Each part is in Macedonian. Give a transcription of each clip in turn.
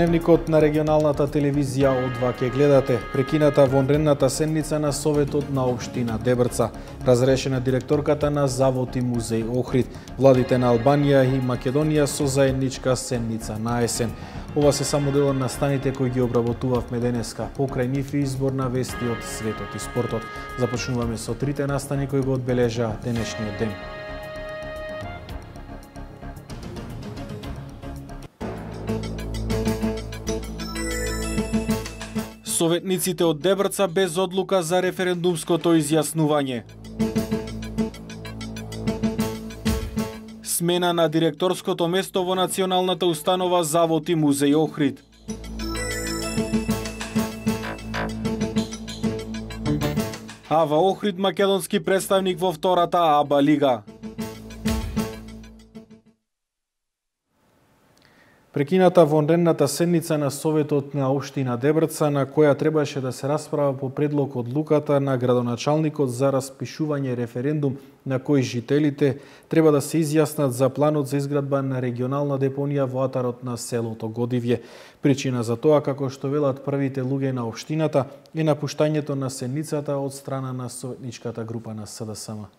Дневникот на регионалната телевизија О2 ќе гледате. Прекината вонредната седница на Советот на општина Дебрца. Разрешена директорката на Завод и музеј Охрид. Владите на Албанија и Македонија со заедничка седница на есен. Ова се само дел од настаните кои ги обработувавме денеска. Покрај нив и избор на вести од светот и спортот. Започнуваме со трите настани кои го одбележа денешниот ден. Советниците од Дебрца без одлука за референдумското изјаснување. Смена на директорското место во Националната установа Завод и музеј Охрид. АВА Охрид македонски представник во втората АБА лига. Прекината вонредната седница на Советот на општина Дебрца, на која требаше да се расправа по предлог одлуката на градоначалникот за распишување референдум на кој жителите треба да се изјаснат за планот за изградба на регионална депонија во атарот на селото Годивје. Причина за тоа, како што велат првите луѓе на општината, е напуштањето на седницата од страна на советничката група на СДСМ.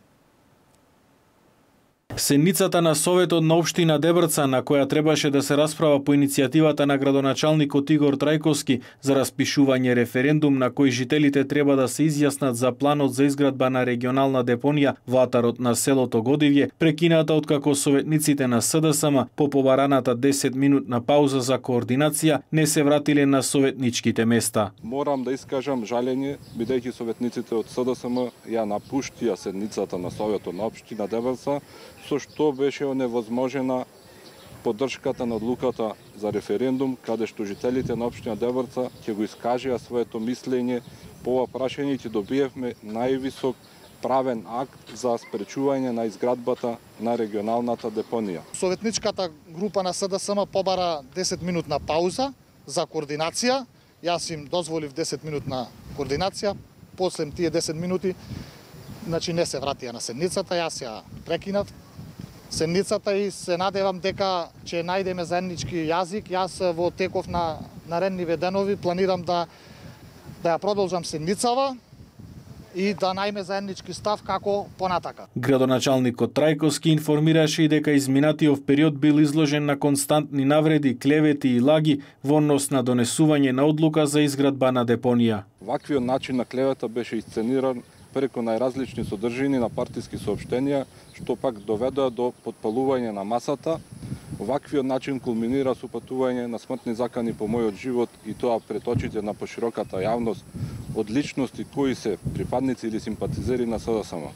Седницата на Советот на општина Дебрца, на која требаше да се расправа по иницијативата на градоначалникот Игор Трајковски за распишување референдум на кој жителите треба да се изјаснат за планот за изградба на регионална депонија во атарот на селото Годивје, прекината откако советниците на СДСМ по побараната 10-минутна пауза за координација не се вратиле на советничките места. Морам да искажам жалење, бидејќи советниците од СДСМ ја напуштија седницата на Советот на општина Дебрца, со што беше оневозможена поддршката на одлуката за референдум, каде што жителите на општина Дебрца ќе го искажеа своето мислење по ова прашање и ќе добиевме највисок правен акт за спречување на изградбата на регионалната депонија. Советничката група на СДСМ побара 10-минутна пауза за координација. Јас им дозволив 10-минутна координација, после тие 10 минути не се вратија на седницата, јас ја прекинав седницата и се надевам дека ќе најдеме заеднички јазик. Јас во теков на наредниве денови планирам да ја продолжам седницава и да најме заеднички став како понатака. Градоначалникот Трајковски информираше и дека изминатиот период бил изложен на константни навреди, клевети и лаги во однос на донесување на одлука за изградба на депонија. Ваквиот начин на клевета беше исцениран преку најразлични содржини на партиски соопштенија, што пак доведоа до потпалување на масата. Ваквиот начин кулминира со упатување на смртни закани по мојот живот и тоа пред очите на пошироката јавност од личности кои се припадници или симпатизери на СДСМ.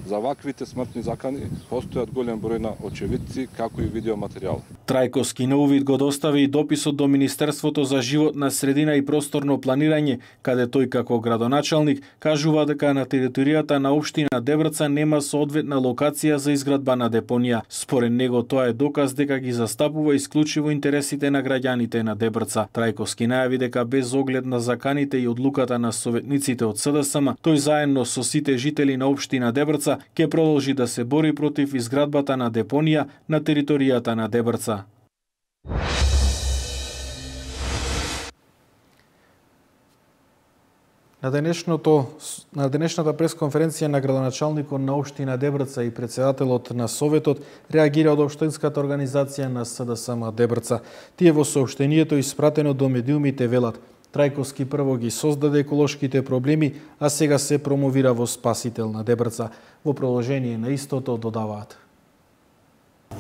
За ваквите смртни закани постојат голем број на очевидци, како и видеоматеријал. Трајковски на увид го достави и дописот до Министерството за животна средина и просторно планирање, каде тој како градоначалник кажува дека на територијата на општина Дебрца нема соодветна локација за изградба на депонија. Според него тоа е доказ дека ги застапува исклучиво интересите на граѓаните на Дебрца. Трајковски најави дека без оглед на заканите и одлуката на советниците од СДСМ, тој заедно со сите жители на општина Дебрца ќе продолжи да се бори против изградбата на депонија на територијата на Дебрца. На денешната пресконференција на градоначалникот на општина Дебрца и председателот на Советот реагира од општинската организација на СДСМ Дебрца. Тие во соопштението испратено до медиумите велат: Трајковски прво ги создаде еколошките проблеми, а сега се промовира во спасител на Дебрца. Во продолжение на истото додаваат: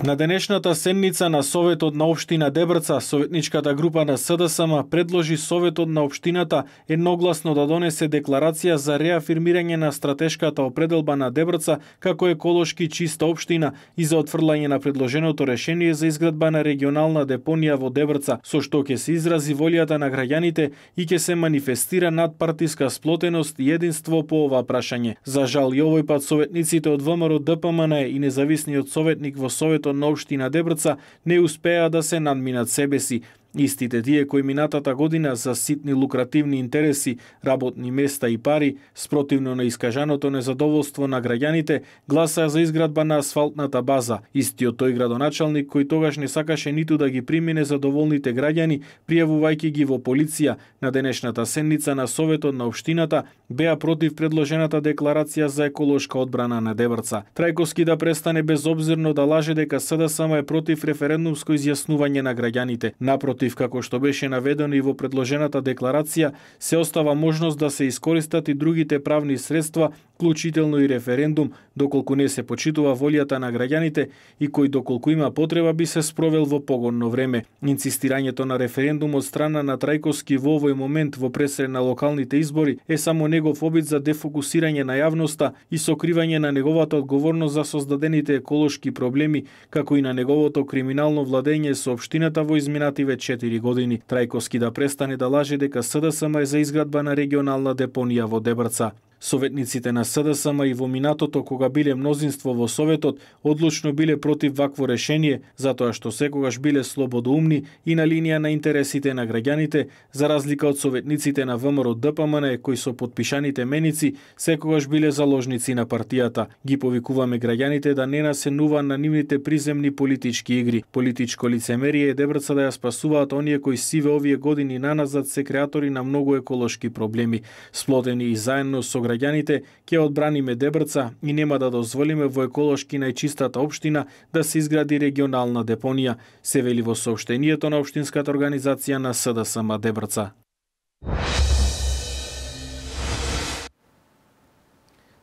на денешната седница на Советот на општина Дебрца, советничката група на СДСМ предложи Советот на општината едногласно да донесе декларација за реафирмирање на стратешката определба на Дебрца како еколошки чиста општина и за отфрлање на предложеното решение за изградба на регионална депонија во Дебрца, со што ќе се изрази волјата на граѓаните и ќе се манифестира надпартиска сплотеност и единство по ова прашање. За жал и овој пат советниците од ВМРО ДПМН и независниот советник во Советот на општина Дебрца не успеа да се надминат себе си. Истите тие кои минатата година за ситни лукративни интереси, работни места и пари, спротивно на искажаното незадоволство на граѓаните, гласаа за изградба на асфалтната база. Истиот тој градоначалник кој тогаш не сакаше ниту да ги прими незадоволните граѓани, пријавувајќи ги во полиција, на денешната седница на Советот на општината беа против предложената декларација за еколошка одбрана на Дебрца. Трајковски да престане безобзирно да лаже дека СДСМ е против референдумско изјаснување на граѓаните. Напротив, како што беше наведено и во предложената декларација, се остава можност да се искористат и другите правни средства, вклучително и референдум, доколку не се почитува волјата на граѓаните и кој доколку има потреба би се спровел во погонно време. Инцистирањето на референдум од страна на Трајковски во овој момент во пресред на локалните избори е само негов обид за дефокусирање на јавноста и сокривање на неговата одговорност за создадените еколошки проблеми, како и на неговото криминално владење со општината во изминативе 4 години. Трајковски да престане да лаже дека СДСМ е за изградба на регионална депонија во Дебрца. Советниците на СДСМ и во минатото, кога биле мнозинство во Советот, одлучно биле против вакво решение, затоа што секогаш биле слободоумни и на линија на интересите на граѓаните, за разлика од советниците на ВМРО ДПМН, кои со подпишаните меници секогаш биле заложници на партијата. Ги повикуваме граѓаните да не насенува на нивните приземни политички игри. Политичко лицемерие е Дебрца да ја спасуваат оние кои сиве овие години наназад се креатори на многу еколошки проблеми. Сплотени и заедно со граѓаните ќе одбраниме Дебрца и нема да дозволиме во еколошки најчистата општина да се изгради регионална депонија, се вели во соопштението на општинската организација на СДСМ Дебрца.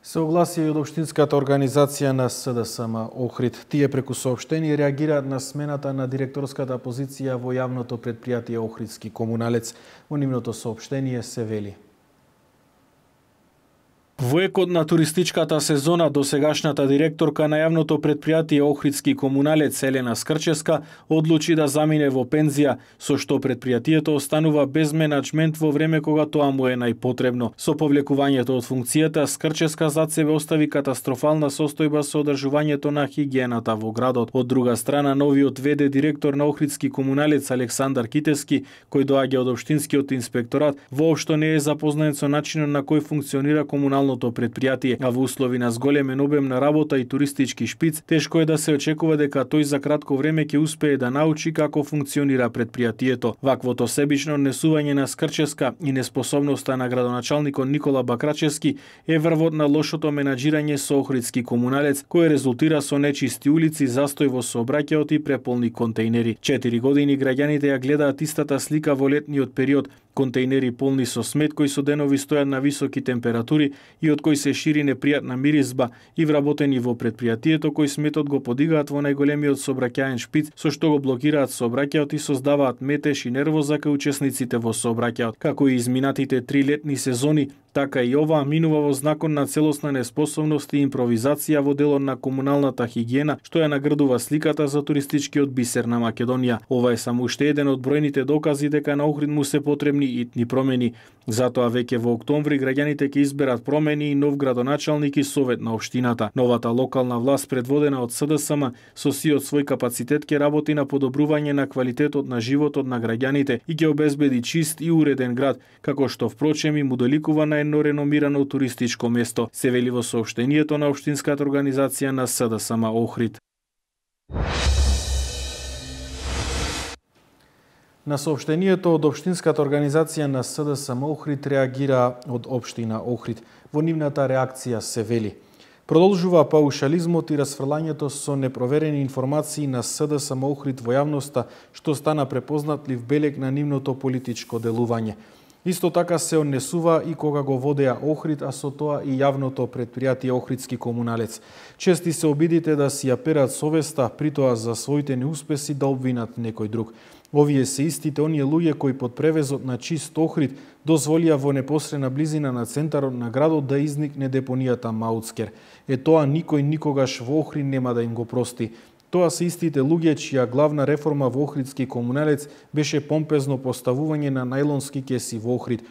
Се огласи и од општинската организација на СДСМ Охрид. Тие преку соопштение реагираат на смената на директорската позиција во јавното предпријатие Охридски комуналец. Во нивното соопштение се вели: во екот на туристичката сезона, досегашната директорка на јавното предпријатие Охридски комуналец Елена Скрческа одлучи да замине во пензија, со што предпријатието останува без менаџмент во време кога тоа му е најпотребно. Со повлекувањето од функцијата, Скрческа зад себе остави катастрофална состојба со одржувањето на хигиената во градот. Од друга страна, новиот ВД директор на Охридски комуналец Александар Китески, кој доаѓа од општинскиот инспекторат, воопшто не е запознат со начинот на кој функционира комуналното предпријатие, а во услови на зголемен обем на работа и туристички шпиц, тешко е да се очекува дека тој за кратко време ќе успее да научи како функционира предпријатието. Ваквото себично однесување на Скрческа и неспособноста на градоначалникот Никола Бакрачевски е врвот на лошото менаџирање со Охридски комуналец, кој резултира со нечисти улици, застој во сообраќајот и преполни контејнери. 4 години граѓаните ја гледаат истата слика во летниот период, контејнери полни со смет кои со денови стојат на високи температури и од кои се шири непријатна миризба, и вработени во предпријатието кои сметот го подигаат во најголемиот сообраќаен шпиц, со што го блокираат сообраќајот и создаваат метеж и нервоза кај учесниците во сообраќајот. Како и изминатите 3 летни сезони, така и ова минува во знакот на целосна неспособност и импровизација во делот на комуналната хигиена, што ја нагрдува сликата за туристичкиот бисер на Македонија. Ова е само уште еден од бројните докази дека на Охрид му се потребни итни промени. Затоа веќе во октомври граѓаните ќе изберат промени и нов градоначалник и совет на општината. Новата локална власт, предводена од СДСМ, со сиот свој капацитет ќе работи на подобрување на квалитетот на животот на граѓаните и ќе обезбеди чист и уреден град, како што впрочем и му доликува на едно реномирано туристичко место, се вели во соопштението на општинската организација на СДСМ Охрид. На соопштението од општинската организација на СДСМ Охрид реагира од општина Охрид. Во нивната реакција се вели: продолжува паушализмот и расфрлањето со непроверени информации на СДСМ Охрид во јавноста, што стана препознатлив белег на нивното политичко делување. Исто така се однесува и кога го водеа Охрид, а со тоа и јавното предпријатие Охридски комуналец. Чести се обидите да си ја перат совеста, притоа за своите неуспеси да обвинат некој друг. Овие се истите оние луѓе кои под превезот на чист Охрид дозволија во непосредна близина на центарот на градот да изникне депонијата Маутскер. Тоа никој никогаш во Охрид нема да им го прости. Тоа се истите луѓе чија главна реформа во Охридски комуналец беше помпезно поставување на најлонски кеси во Охрид.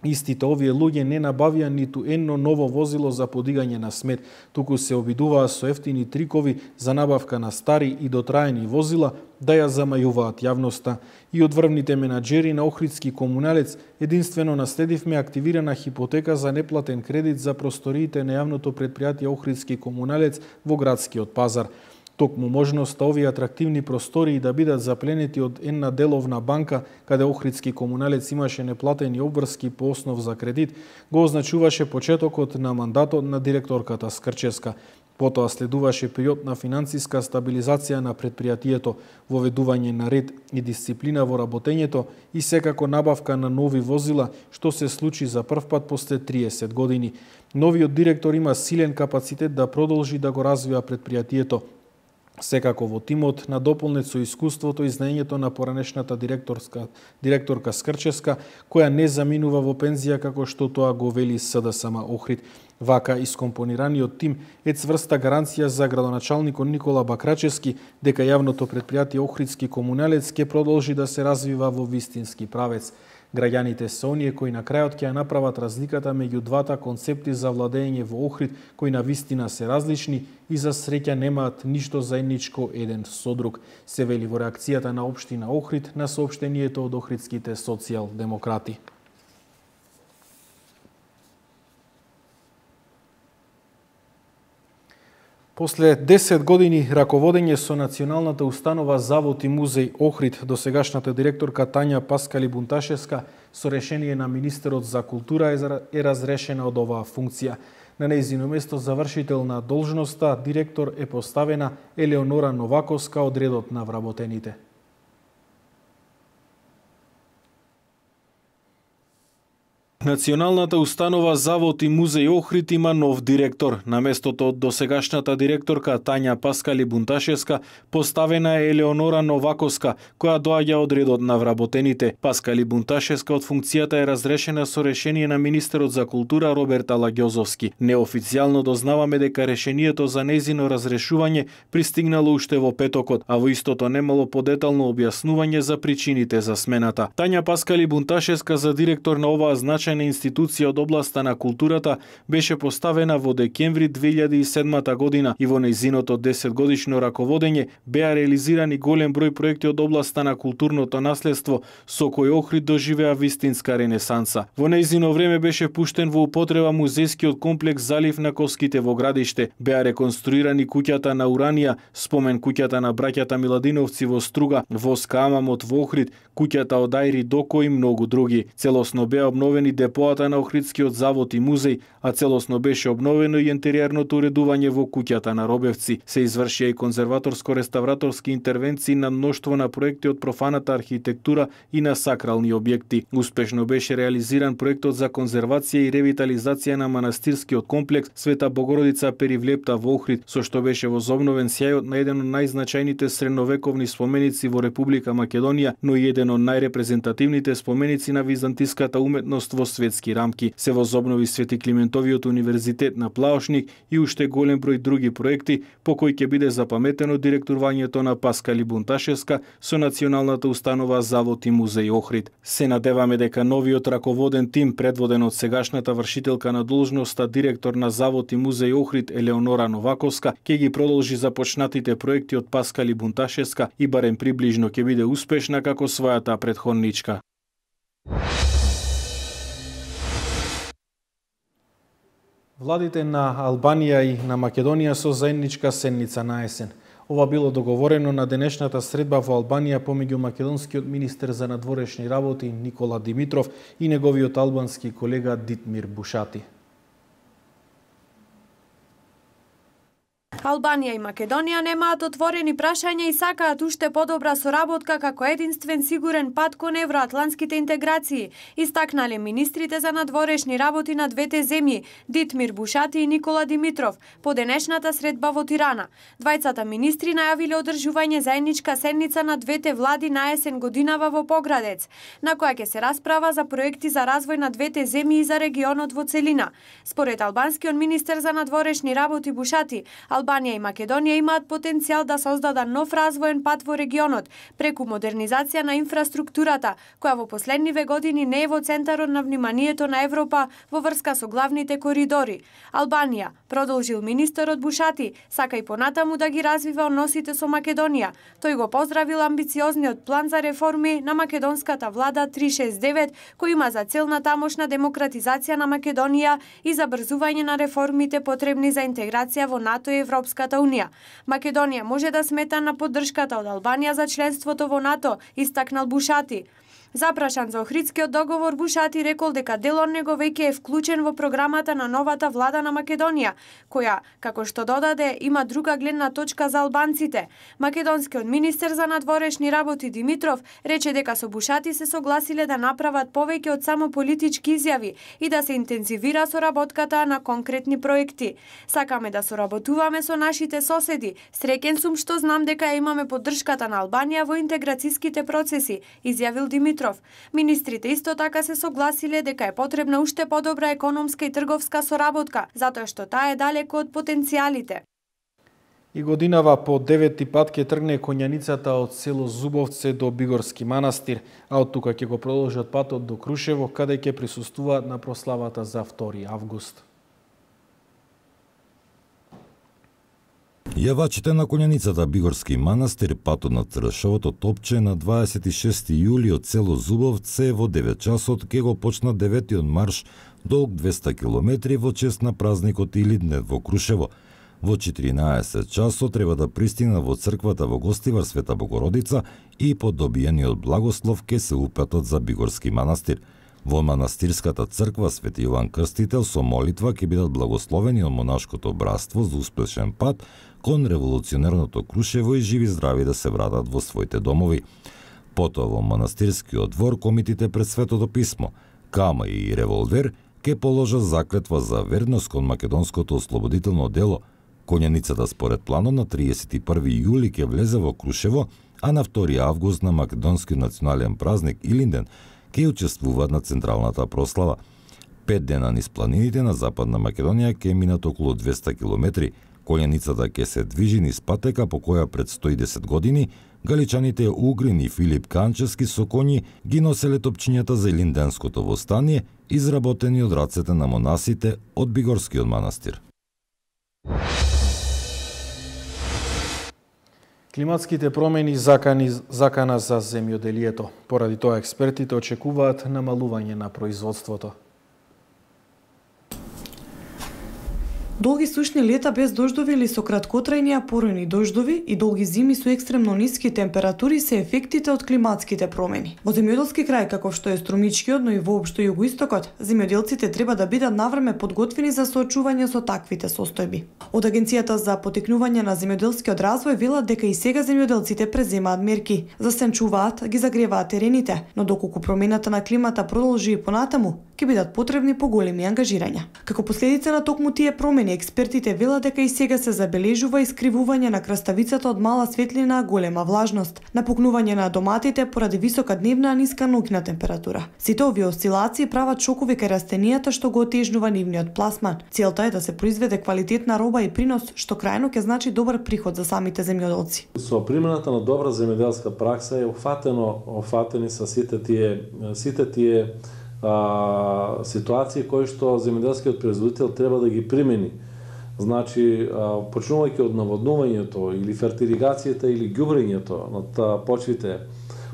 Истите овие луѓе не набавија ниту едно ново возило за подигање на смет, туку се обидуваа со ефтини трикови за набавка на стари и дотраени возила да ја замајуваат јавноста. И од врвните менаџери на Охридски комуналец единствено наследивме активирана хипотека за неплатен кредит за просториите на јавното претпријатие Охридски комуналец во градскиот пазар. Токму можноста овие атрактивни простории да бидат запленети од една деловна банка, каде Охридски комуналец имаше неплатени обврски по основ за кредит, го означуваше почетокот на мандатот на директорката Скрческа. Потоа следуваше период на финансиска стабилизација на претпријатието, воведување на ред и дисциплина во работењето и секако набавка на нови возила, што се случи за првпат после 30 години. Новиот директор има силен капацитет да продолжи да го развива претпријатието. Секако во тимот на дополнет со искуството и знаењето на поранешната директорка Скрческа, која не заминува во пензија како што тоа го вели СДСМ Охрид. Вака искомпонираниот тим е цврста гаранција за градоначалникот Никола Бакрачевски дека јавното претпријатие Охридски комуналец ќе продолжи да се развива во вистински правец. Граѓаните се оние кои на крајот ќе ја направат разликата меѓу двата концепти за владење во Охрид, кои на вистина се различни и за среќа немаат ништо заедничко еден со друг, се вели во реакцијата на општина Охрид на соопштението од охридските социјалдемократи. После 10 години раководење со Националната установа Завод и музеј Охрид, досегашната директорка Тања Паскали Бунташевска со решение на министерот за култура е разрешена од оваа функција. На нејзино место завршител на должноста директор е поставена Елеонора Новаковска од редот на вработените. Националната установа Завод и музеј Охрид има нов директор. На местото од досегашната директорка Тања Паскали Бунташевска поставена е Елеонора Новаковска, која доаѓа од редот на вработените. Паскали Бунташевска од функцијата е разрешена со решение на министерот за култура Роберт Алагјозовски. Неофицијално дознаваме дека решението за нејзино разрешување пристигнало уште во петокот, а во истото немало подетално објаснување за причините за смената. Тања Паскали Бунташевска за директор на оваа значајна институција од областа на културата беше поставена во декември 2007 година и во нејзиното 10-годишно раководење беа реализирани голем број проекти од областа на културното наследство со кои Охрид доживеа вистинска ренесанса. Во нејзино време беше пуштен во употреба музејскиот комплекс Залив на Коските во Градиште, беа реконструирани куќата на Уранија, спомен куќата на браќата Миладиновци во Струга, Воска Амамот во Охрид, куќата од Ајри Доко и многу други. Целосно беа обновени депоата на Охридскиот завод и музеј, а целосно беше обновено и интериерното уредување во куќата на Робевци. Се извршија и конзерваторско-реставраторски интервенции на мноштво на проекти од профаната архитектура и на сакрални објекти. Успешно беше реализиран проектот за конзервација и ревитализација на манастирскиот комплекс Света Богородица Перивлепта во Охрид, со што беше возобновен сјајот на еден од најзначајните средновековни споменици во Република Македонија, но и еден од најрепрезентативните споменици на византиската уметност во светски рамки. Се возобнови Свети Климентовиот универзитет на Плаошник и уште голем број други проекти по кои ќе биде запаметено директорувањето на Паскали Бунташевска со Националната установа Завод и музеј Охрид. Се надеваме дека новиот раководен тим, предводен од сегашната вршителка на должноста директор на Завод и музеј Охрид Елеонора Новаковска, ќе ги продолжи започнатите проекти од Паскали Бунташевска и барем приближно ќе биде успешна како својата претходничка. Владите на Албанија и на Македонија со заедничка седница на есен. Ова било договорено на денешната средба во Албанија помеѓу македонскиот министер за надворешни работи Никола Димитров и неговиот албански колега Дитмир Бушати. Албанија и Македонија немаат отворени прашања и сакаат уште подобра соработка како единствен сигурен пат кон евроатлантските интеграции, истакнале министрите за надворешни работи на двете земји Дитмир Бушати и Никола Димитров по денешната средба во Тирана. Двајцата министри најавиле одржување заедничка седница на двете влади на есен годинава во Поградец, на која ќе се расправа за проекти за развој на двете земји и за регионот во целина. Според албанскиот министер за надворешни работи Бушати, Албанија Албанија и Македонија имаат потенцијал да создадат нов развоен пат во регионот преку модернизација на инфраструктурата, која во последниве години не е во центарот на вниманието на Европа во врска со главните коридори. Албанија, продолжил министерот Бушати, сака и понатаму да ги развива односите со Македонија. Тој го поздравил амбициозниот план за реформи на македонската влада 369, кој има за цел на тамошна демократизација на Македонија и забрзување на реформите потребни за интеграција во НАТО и Европската унија. Македонија може да смета на поддршката од Албанија за членството во НАТО, истакнал Бушати. Запрашан за Охридскиот договор, Бушати рекол дека дел од него веќе е вклучен во програмата на новата влада на Македонија, која, како што додаде, има друга гледна точка за албанците. Македонскиот министер за надворешни работи Димитров рече дека со Бушати се согласиле да направат повеќе од само политички изјави и да се интензивира соработката на конкретни проекти. Сакаме да соработуваме со нашите соседи. Среќен сум што знам дека ја имаме поддршката на Албанија во интеграцијските процеси, изјавил Димитров. Министрите исто така се согласиле дека е потребна уште подобра економска и трговска соработка, затоа што таа е далеко од потенцијалите. И годинава по 9-ти пат ќе тргне конјаницата од село Зубовце до Бигорски манастир, а од тука ќе го продолжат патот до Крушево, каде ќе присуствуваат на прославата за 2 август. Јавачите на конјаницата Бигорски манастир патот на Цршовото топче на 26 јули од село Зубовце во 9 часот ќе го почнат 9-тиот марш долг 200 км во чест на празникот Илиднет во Крушево. Во 14 часот треба да пристигнат во црквата во Гостивар Света Богородица и по добиениот благослов ќе се упатат за Бигорски манастир. Во манастирската црква Свети Јован Крстител со молитва ќе бидат благословени од монашкото братство за успешен пат кон револуционерното Крушево и живи здрави да се вратат во своите домови. Потоа во манастирскиот двор комитите пред Светото писмо, Кама и Револвер ќе положат заклетва за верност кон македонското ослободително дело. Конјаницата според планот на 31 јули ќе влезе во Крушево, а на 2 август на македонскиот национален празник Илинден ќе учествуваат на централната прослава. 5 дена низ планините на Западна Македонија ќе минат околу 200 километри. Конјаницата ќе се движи низ патека по која пред 110 години галичаните Угрин и Филип Канчевски со коњи ги носеле топчињата за Илинденското востание, изработени од рацете на монасите од Бигорскиот манастир. Климатските промени закана за земјоделието. Поради тоа експертите очекуваат намалување на производството. Долги сушни лета без дождови или со краткотрајни поројни дождови и долги зими со екстремно ниски температури се ефектите од климатските промени. Во земјоделски крај, каков што е Струмичкиот, но и воопшто југоистокот, земјоделците треба да бидат навреме подготвени за соочување со таквите состојби. Од Агенцијата за поттикнување на земјоделскиот развој велат дека и сега земјоделците преземаат мерки, засенчуваат, ги загреваат терените, но доколку промената на климата продолжи и понатаму, ќе бидат потребни поголеми ангажирања. Како последица на токму тие промени, експертите велат дека и сега се забележува искривување на краставицата од мала светлина, голема влажност, напукнување на доматите поради висока дневна, а ниска ноќна температура. Сите овие осцилации прават шокови кај растенијата што го отежнува нивниот пласман. Целта е да се произведе квалитетна роба и принос што крајно ќе значи добар приход за самите земјоделци. Со примената на добра земјоделска пракса е офатени со сите тие ситуации кои што земјоделскиот производител треба да ги примени. Значи, почнувајќи од наводнувањето или фертиригацијата или ѓубрењето над почвите,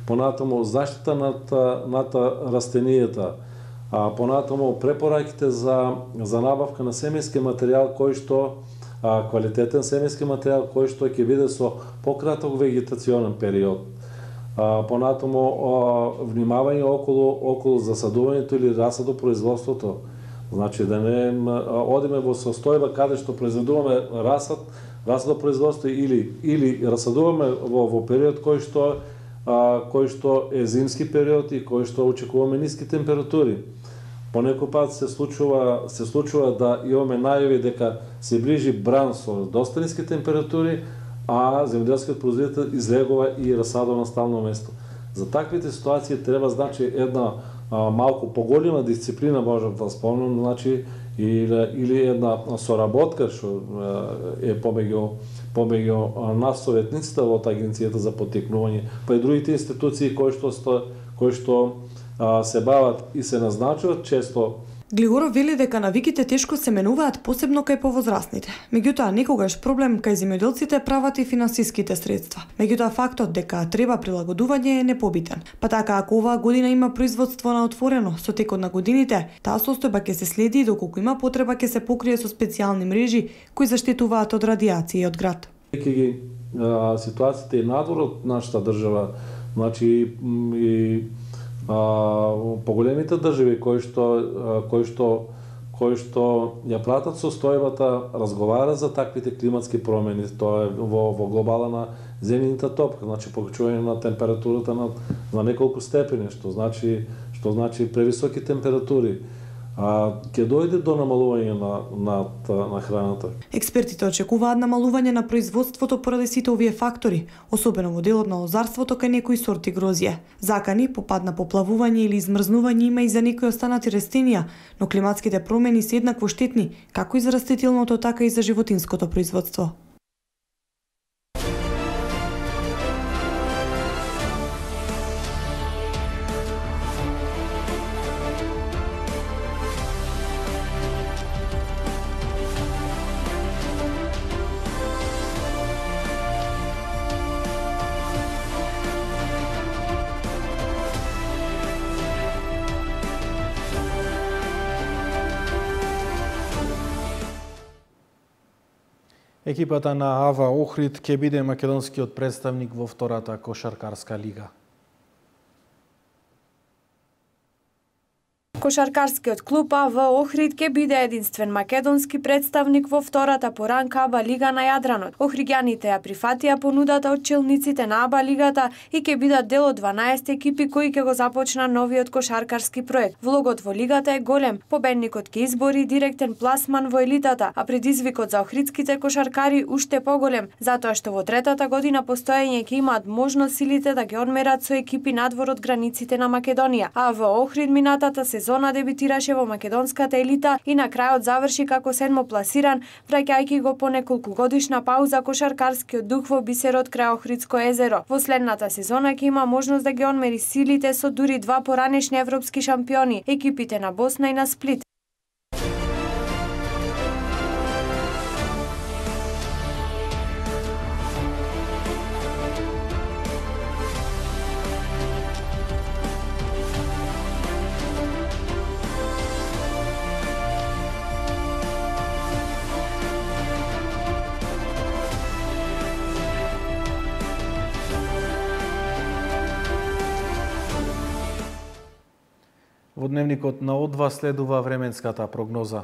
понатаму заштита над растенијата, понатаму препораките за набавка на семејски материјал кој што квалитетен семејски материјал кој што ќе биде со пократок вегетационен период. Понатаму внимавање околу засадувањето или расадопроизводството. Значи да не одиме во состојба каде што произведуваме расадопроизводство или расадуваме во период кој што е зимски период и кој што очекуваме ниски температури. Понекој пат се случува да имаме најави дека се ближи бран со доста ниски температури, а земјоделскиот производител излегува и расадува на стално место. За таквите ситуации треба значи една малку поголема дисциплина, можам да спомнам, значи или една соработка што е помеѓу нас советниците од Агенцијата за поттикнување, па и другите институции кои што се бават и се назначуваат често. Глигоров вели дека навиките тешко се менуваат, посебно кај повозрастните. Меѓутоа, некогаш проблем кај земјоделците прават и финансиските средства. Меѓутоа, фактот дека треба прилагодување е непобитен. Па така, ако оваа година има производство на отворено со текот на годините, таа состојба ќе се следи и доколку има потреба ќе се покрие со специјални мрежи кои заштитуваат од радиација и од град. Ги ситуациите и надвор од нашата држава, значи и поголемите држави кои што ја пратат состојбата, разговара за таквите климатски промени, тоа е во глобала на земјината топка, значи покачување на температурата на неколку степени, што значи превисоки температури. Ќе дојде до намалување на храната. Експертите очекуваат намалување на производството поради сите овие фактори, особено во делот на лозарството кај некои сорти грозје. Закани, попад на поплавување или измрзнување има и за некои останати растенија, но климатските промени се еднакво штетни, како и за растителното, така и за животинското производство. Екипата на АВА Охрид ќе биде македонскиот представник во втората кошаркарска лига. Кошаркарскиот клуб АВА Охрид ќе биде единствен македонски представник во втората по ранг АБА лига на Јадранот. Охриѓаните ја прифатија понудата од челниците на АБА лигата и ќе бидат дел од 12 екипи кои ќе го започна новиот кошаркарски проект. Влогот во лигата е голем. Победникот ќе избори директен пласман во елитата, а предизвикот за охридските кошаркари уште поголем, затоа што во третата година постоење ќе имаат можност силите да ги одмерат со екипи надвор од границите на Македонија. АВА Охрид минатата сезона дебитираше во македонската елита и на крајот заврши како 7 пласиран, враќајќи го по неколку годишна пауза кошаркарскиот дух во бисерот крај Охридско езеро. Во следната сезона ќе има можност да ги одмери силите со дури 2 поранешни европски шампиони, екипите на Босна и на Сплит. Во дневникот на О2 следува временската прогноза.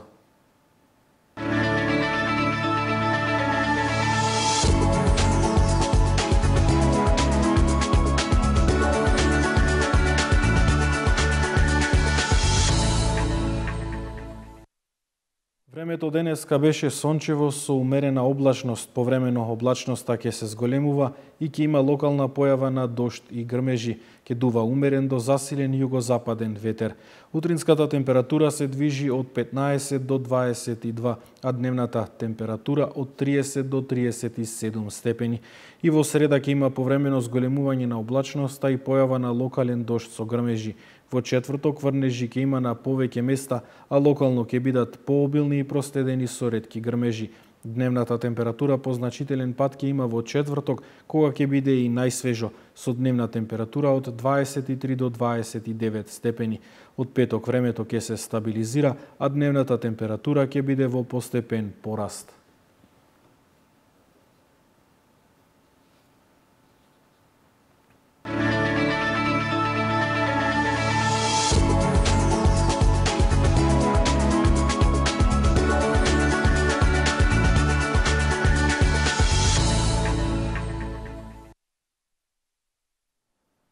Времето денеска беше сончево со умерена облачност. Повремено облачноста ќе се зголемува и ќе има локална појава на дожд и грмежи. Ќе дува умерен до засилен југозападен ветер. Утринската температура се движи од 15 до 22, а дневната температура од 30 до 37 степени. И во среда ќе има повремено зголемување на облачноста и појава на локален дожд со грмежи. Во четврток врнежи ќе има на повеќе места, а локално ќе бидат пообилни и простедени со ретки грмежи. Дневната температура по значителен пат ќе има во четврток, кога ќе биде и најсвежо, со дневна температура од 23 до 29 степени. Од петок времето ќе се стабилизира, а дневната температура ќе биде во постепен пораст.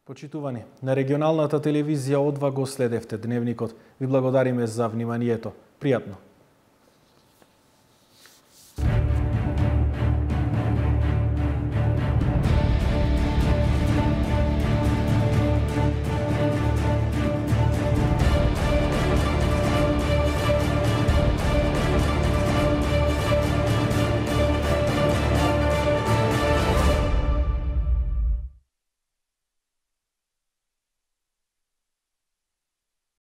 Почитувани, на регионалната телевизија О2 го следевте дневникот. Ви благодариме за вниманието. Пријатно!